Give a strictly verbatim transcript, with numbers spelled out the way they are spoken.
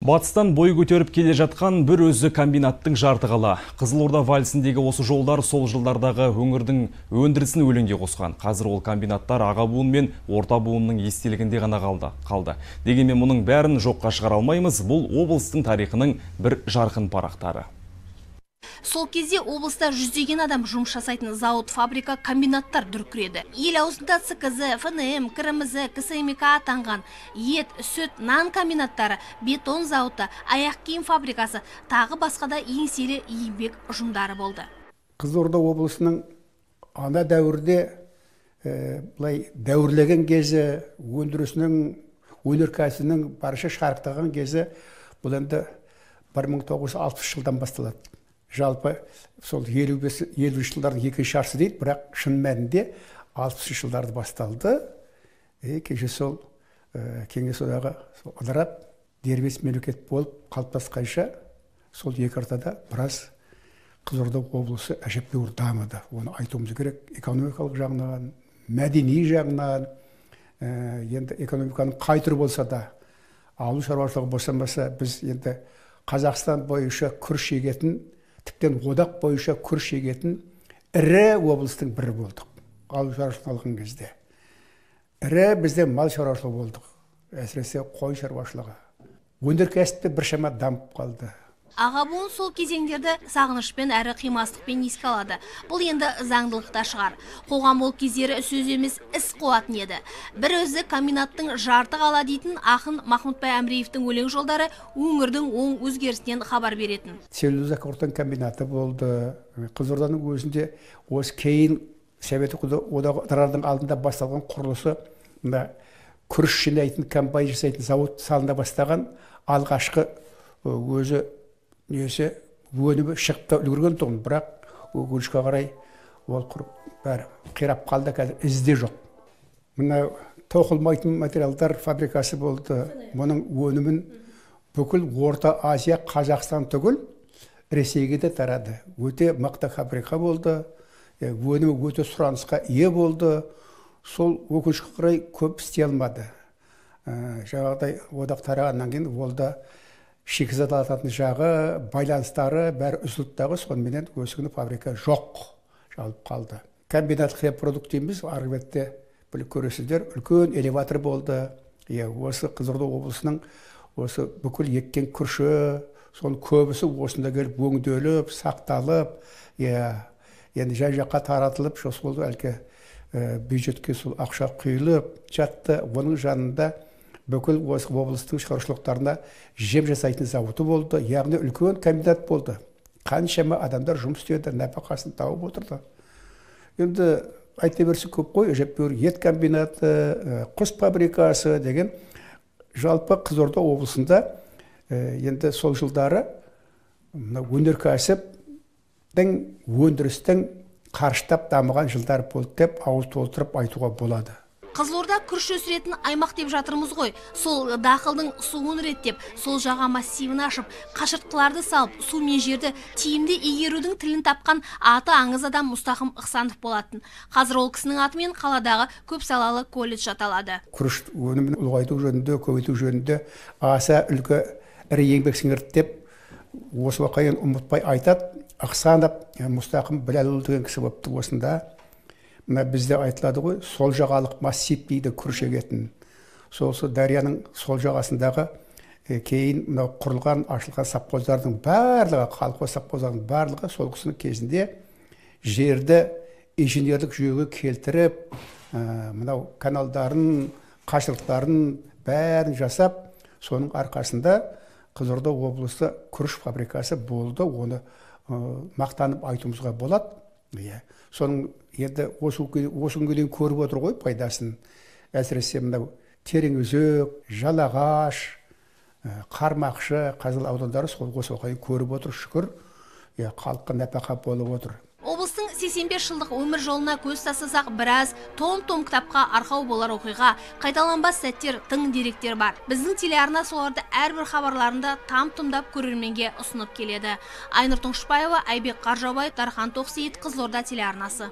Батыстан бой көтеріп келе жатқан бір өзі комбинаттың жарты қала. Қызылорда вальсіндегі осы жолдар сол жылдардағы өңірдің өндірісін өлеңге қосқан. Қазір ол комбинаттар аға буын мен орта буынның естелігінде ғана қалды. қалды. Дегенмен мұның бәрін жоққа шығара алмаймыз. Бұл облыстың тарихының бір жарқын парақтары. Сол кезде облыста жүздеген адам жұмыс жасайтын зауыт, фабрика, комбинаттар дүркіреді. Ел аузында С К З, Ф Н М, К Р М З, К С М К атанған ет, сүт, нан комбинаттары, бетон зауыты, аяқ киім фабрикасы, тағы басқада еңселі еңбек ұжымдары болды. Қызылорда облысының ана дәуірде ә, бұлай дәуірлеген кезі, өндірісінің, өнеркәсібінің барша шарықтаған кезі бұл енді бір мың тоғыз жүз алпыс жылдан басталады. Жалпы сол елу бес елу жылдардың екінші жартысы дейді, бірақ шын мәнінде алпысыншы жылдарды басталды. Е, кеше сол ә, кеңес одағы ыдырап дербес мемлекет болып қалыптасқанша сол екі ортада біраз Қызылорда облысы әжептәуір дамыды. Оны айтуымыз керек. Экономикалық жағынан, мәдени жағынан, ә, енді экономиканың қай түрі болса да, ауыл шаруашылығы босамаса, біз енді Қазақстан бойынша күріш егетін, тіптен одақ бойынша күріш егетін ірі облыстың бірі болдық. Ауыл шаруашылығын алған кезде. Ірі бізде мал шаруашылығы болдық. Әсіресе қой шаруашылығы. Өнеркәсіпте біршама дамып қалды. Аға буын сол кезеңдерді сағынышпен әрі қимастықпен еске алады. Бұл енді заңдылықта шығар. Қоғам ол кездері сөз емес іс қуатын еді. Бір өзі комбинаттың жарты қала дейтін ақын Махмұтбай Әміреевтің өлең жолдары өңірдің оң өзгерісінен хабар беретін. Целлюлоза қорытын комбинаты болды. Қызылорданың өзінде осы кейін Совет одағының алдында басталған құрылысы, күріш жинайтын, комбайн жасайтын зауыт салына бастаған алғашқы өзі несі өнімі шығып үлгерген тұғын, бірақ өкінішке қарай ол құрып бәрі қирап қалды, қазір ізде жоқ. Мына тоқылмайтын материалдар фабрикасы болды. Мұның өнімін бүкіл Орта Азия, Қазақстан түгіл Ресейге де тарады. Өте мықты фабрика болды. Өнімі өте сұранысқа ие болды. Сол өкінішке қарай көп істей алмады. Жаңағыдай одақ тарағаннан кейін ол да шикізат алатын жағы, байланыстары бәрі үзілді, сонымен өсігіні фабрика жоқ, жалып қалды. Комбинат хлебпродукт дейміз, арғы бетте біліп көресіздер, үлкен элеватор болды. Осы Қызылорда облысының осы бүкіл еккен күріші, сол көбісі осында келіп өңделіп, сақталып, енді жай-жаққа таратылып, сол әлгі бюджетке сол ақша құйылып жатты. Оның жанында бүкіл осы облыстың шаруашылықтарына жем жасайтын зауыты болды, яғни үлкен комбинат болды. Қаншама адамдар жұмыс істеді, нәпақасын тауып отырды. Енді айта берсе көп қой, әжептәуір ет комбинаты, құс фабрикасы деген жалпы Қызылорда облысында енді сол жылдары өнеркәсіптің, өндірістің қарыштап дамыған жылдар болды деп ауыз толтырып айтуға болады. Қызылорда күріш өсіретін аймақ деп жатырмыз ғой. Сол дақылдың суын реттеп, сол жаға массивін ашып, қашыртқыларды салып, су мен жерді тиімді игерудің тілін тапқан аты аңыз адам Мұстақым Ықсанов болатын. Қазір ол кісінің атымен қаладағы көп салалы колледж аталады. Күріш өнімін ұлғайту жөнінде, көбейту жөнінде аса үлгі ірі еңбек сіңірді деп осы уақайын ұмытпай айтады. Ықсанов Мұстақым Біләлұлы деген кісі болыпты осында. Бізде айтылады ғой, сол жағалық массив дейді күріш егетін. Солсы дарияның сол жағасындағы кейін құрылған, ашылған совхоздардың барлығы, колхоз совхоздардың барлығы сол кісінің кезінде жерді инженерлік жүйеге келтіріп, мынау каналдарын, қашырлықтарын бәрін жасап, соның арқасында Қызылорда облысы күріш фабрикасы болды. Оны мақтанып айтуымызға болады. Соның енді осы күнге дейін көріп отыр ғой пайдасын. Әсіресе мынау Тереңөзек, Жалағаш, Қармақшы, Қазалы аудандары сол осы уақытта көріп отыр, шүкір. Халыққа нәпақа болып отыр. Облыстың сексен бес жылдық өмір жолына көз тастасақ, біраз том-том кітапқа арқау болар оқиға, қайталанбас сәттер, тың деректер бар. Біздің телеарна соларды әрбір хабарларында там-тұмдап көрерменге ұсынып келеді. Айнұр Тұңшыбаева, Айбек Қаржаубай, Дархан Тоқсейіт, Қызылорда телеарнасы.